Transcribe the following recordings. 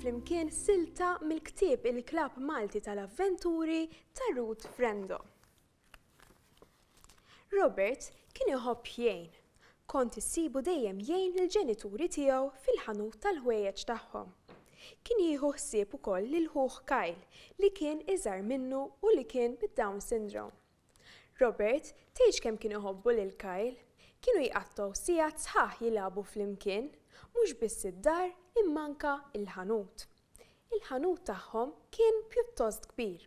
flimkien silta mill-ktieb Il-Klabb Malti tal-Avventuri ta' Ruth Frendo. Robert kien iħobb jgħin. Kont issibu dejjem jgħin lill-ġenituri tiegħu fil-ħanut tal-ħwejjeġ tagħhom. Kien jieħu ħsieb ukoll lil ħuh Kyle li kien iżgħar minnu u li kien bid-Down syndrome. Robert tgħidx kemm kien iħobbu lil Kyle. Kienu jqattgħu sigħat sħaħ jilagħbu flimkien, mhux biss id-dar imma anke l-ħanut. Il-ħanut tagħhom kien pjuttost kbir.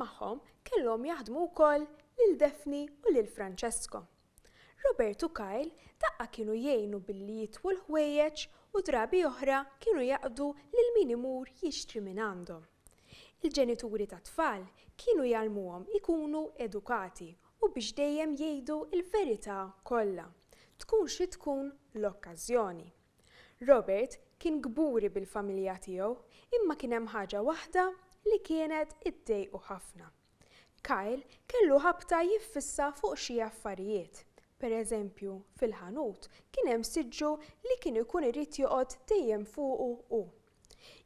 Magħhom kellhom jaħdmu wkoll lil Daphne u lil Francesco. Robert u Kyle daqqa kienu jgħinu billi jitwu l-ħwejjeġ u drabi oħra kienu jaqdu lil min imur jixtri mingħandhom. Il-ġenituri tat-tfal kienu jgħallmuhom ikunu edukati u biex dejjem jgħidu l-verità kollha, tkun xi tkun l-okkażjoni. Robert kien kburi bil-familja tiegħu imma kien hemm ħaġa waħda li kienet iddejqu ħafna. Kyle kellu ħabta jiffissa fuq xi affarijiet. Per eżempju, fil-ħanut kien hemm siġġu li kien ikun irid joqgħod dejjem fuqu hu.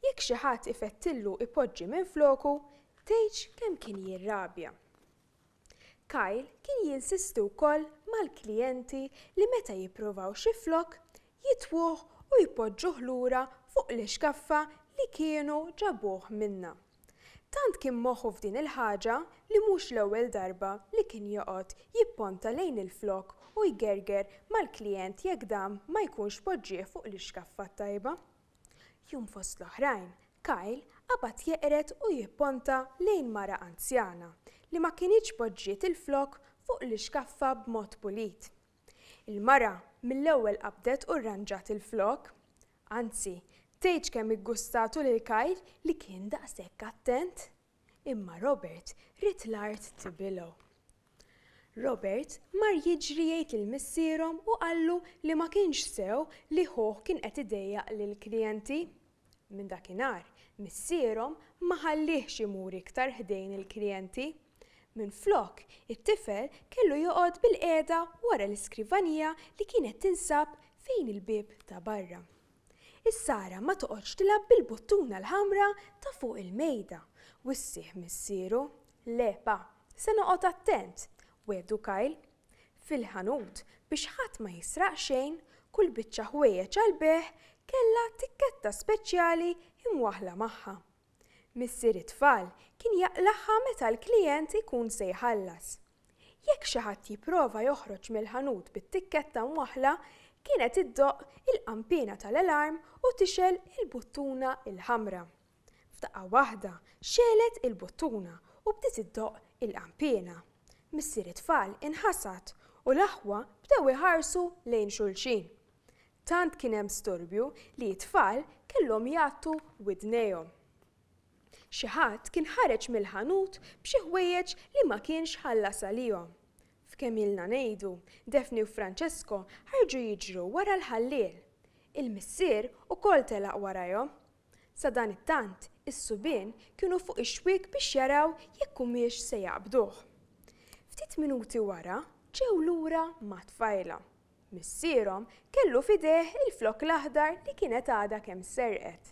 Jekk xi ħadd ifettillu ipoġġi minfloku, tgħidx kemm kien jirrabja. Kyle kien jinsisti wkoll mal-klijenti li meta jippruvaw xi flokk, jitwuh u jpoġġuh lura fuq l-ixkaffa li kienu ġabuh minnha. Tant kien moħħu f'din il-ħaġa li mhux l-ewwel darba li kien joqgħod jipponta lejn il-flokk u jgerger mal-klijent jekk dan ma jkunx poġġieh fuq l-ixkaffa t-tajba. Jum fost l-oħrajn, Kyle qabad jeqred u jipponta lejn mara anzjana li ma kinitx poġġiet il-flokk fuq l-ixkaffa b'mod pulit. Il-mara mill-ewwel qabdet u rranġat il-flokk. Anzi, tgħidx kemm iggustatu lil Kyle li kien daqshekk attent! Imma Robert ried l-art tibilgħu. Robert mar jiġri jgħid lil missierhom u qallu li ma kienx sew li ħuh kien qed idejjaq lill-klijenti. Minn dakinhar, missierhom ma ħalliehx imur iktar ħdejn il-klijenti. Minflok, it-tifel kellu joqgħod bilqiegħda wara l-iskrivanija li kienet tinsab fejn il-bieb ta' barra. Is-Sara ma toqgħodx tilgħab bil-buttuna l-ħamra ta' fuq il-mejda, wissieh missieru. Le, pa, se noqgħod attent, wiegħdu Kyle. Fil-ħanut, biex ħadd ma jisraq xejn, kull biċċa ħwejjeġ għall-bejgħ kellha tikketta speċjali imwaħħla magħha. Missier it-tfal kien jaqlagħha meta l-klijent ikun se jħallas. Jekk xi ħadd jipprova joħroġ mill-ħanut bit-tikketta mwaħħla, kienet iddoqq il-qanpiena tal-alarm u tixgħel il-buttuna l-ħamra. F'daqqa waħda xegħlet il-buttuna u bdiet iddoqq il-qanpiena. Missier it-tfal inħasad u l-aħwa bdew iħarsu lejn xulxin. Tant kien hemm storbju li t-tfal kellhom jgħattu widnejhom. Xi ħadd kien ħareġ mill-ħanut b'xi ħwejjeġ li ma kienx ħallas għalihom. F'kemm ilna ngħidu, Daphne u Francesco ħarġu jiġru wara l-ħalliel. Il-missier ukoll telaq warajhom. Sadanittant, is-subien kienu fuq ix-xwiek biex jaraw jekk humiex se jaqbduh. Ftit minuti wara ġew lura mat-tfajla. Missierhom kellu f'idejh il-flokk l-aħdar li kienet għadha kemm serqet.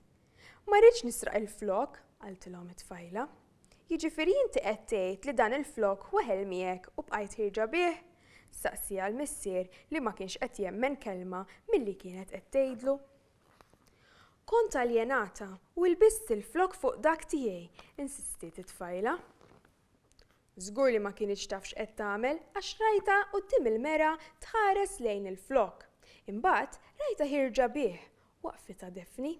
Ma rridx nisraq il-flokk, qaltilhom it-tfajla. Jiġifieri inti qed tgħid li dan il-flokk weħel miegħek u bqajt ħierġa bih? Staqsieha l-missier li ma kienx qed jemmen kelma milli kienet qed tgħidlu. Kont aljenata u lbist il-flokk fuq dak tiegħi, insistiet it-tfajla. Żgur li ma kinitx taf x'qed tagħmel għax rajtha quddiem il-mera tħares lejn il-flokk. Imbagħad rajtha ħierġa bih, waqfitha Daphne.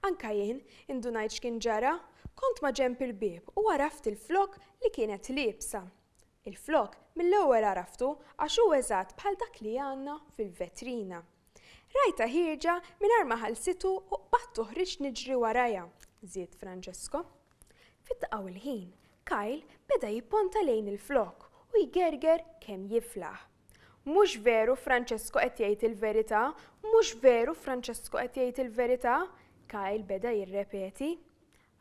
Anka jien indunajt x'kien ġara, kont maġenb il-bieb u għaraft il-flokk li kienet liebsa. Il-flokk mill-ewwel għaraftu għax hu eżatt bħal dak li għandna fil-vetrina. Rajtha ħierġa mingħajr ma ħallsitu u qbadt u ħriġt niġri warajha, żied Francesco. Fid-daqqa u l-ħin, Kyle beda jipponta lejn il-flokk u jgerger kemm jiflaħ. Mhux veru Francesco qed jgħid il-verità, mhux veru Francesco qed jgħid il-verità, Kyle beda jirrepeti.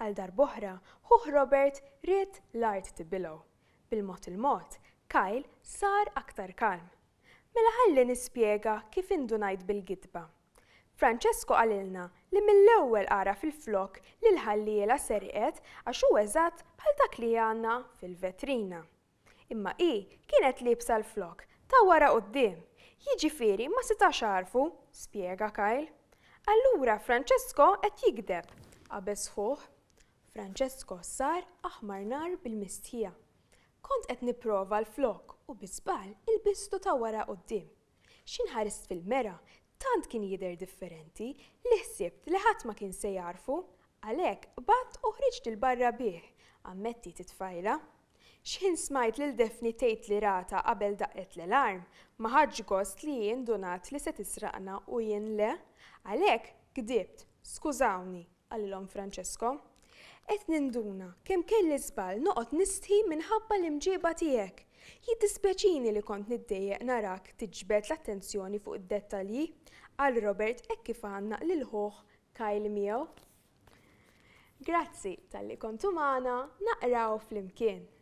Għal darb'oħra, ħuh Robert ried l-art tibilgħu. Bil-mod il-mod, Kyle sar aktar kalm. Mela ħalli nispjega kif indunajt bil-gidba. Francesco qalilna li mill-ewwel għaraf il-flokk li l-ħalliela serqet għax hu eżatt bħal dak li għandna fil-vetrina. Imma hi kienet liebsa l-flokk ta' wara quddiem, jiġifieri ma setax għarfu, spjega Kyle. Allura Francesco qed jigdeb, qabeż ħuh. Francesco sar aħmar nar bil-mistħija. Kont qed nipprova l-flokk u bi żball ilbistu ta' wara quddiem. X'ħin ħarist fil-mera, tant kien jidher differenti li ħsibt li ħadd ma kien se jagħrfu, għalhekk qbadt u ħriġt 'il barra bih, ammettiet it-tfajla. X'ħin smajt lil Daphne tgħid li ratha qabel daqqet l-alarm, ma ħadtx gost li hi ndunat li se tisraqna u jien le, għalhekk gdibt, skużawni, qalilhom Francesco. Qed ninduna kemm kelli żball noqgħod nistħi minħabba l-imġieba tiegħek. Jiddispjaċini li kont niddejjaq narak tiġbed l-attenzjoni fuq id-dettalji, qal Robert hekk kif għannaq lil ħuh Kyle miegħu. Grazzi talli kontu magħna naqraw flimkien.